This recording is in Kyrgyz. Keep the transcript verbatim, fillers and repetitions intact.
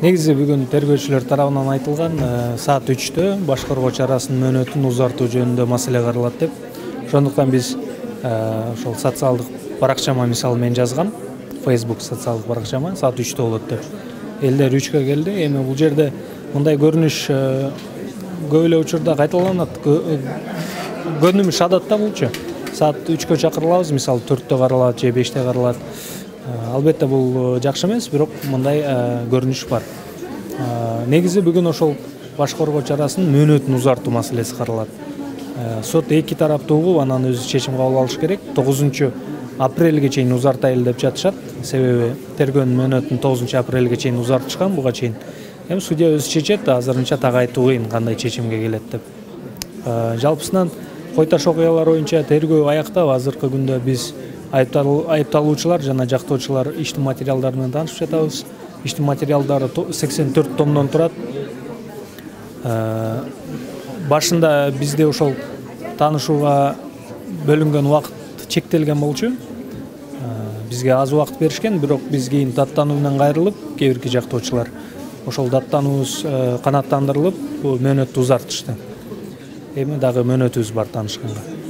Негизи бүгүн тергөөчүлөр тарабынан айтылган саат үчтө баш коргоочу арасынын мөөнөтүн узартуу жөнүндө маселе каралат деп. Ошондуктан биз ошол социалдык баракчама мисалы мен жазгам, Facebook социалдык баракчама саат үчтө болот деп. Элдер үчкө келди. Эми бул жерде мындай көрүнүш көп эле учурда кайталанат. Көнүмүш адатта булчу. Саат үчкө чакырылабыз, мисалы төрттө каралат же беште каралат. Албетте бул жакшы эмес, бирок мындай көрүнүш бар. Негизи бүгүн ошол баш коргоочу арасынын мөөнөтүн узартуу маселеси каралат. Сот эки тарапты угуп, анан өзү чечим кабыл алыш керек. тогузунчу апрелге чейин узартайлы деп жатышат. Себеби тергөөнүн мөөнөтүн тогузунчу апрелге чейин узартышкан буга чейин. Эми судья өзү чечет, азырынча так айтуу кыйын кандай чечимге келет деп. Жалпысынан кой таш окуялар боюнча тергөө аяктап, азыркы күндө биз айыпталуучулар жана жактоочулар иштин материалдары менен таанышып жатабыз. Иштин материалдары сексен төрт томдон турат. Башында бизде ошол таанышууга бөлүнгөн убакыт чектелген болчу. Бизге аз убакыт беришкен, бирок биз кийин даттануу менен кайрылып, кээ бирки жактоочулар ошол даттануубуз канааттандырылып, мөөнөттү узартышты. Эми дагы мөөнөтүбүз бар таанышканга.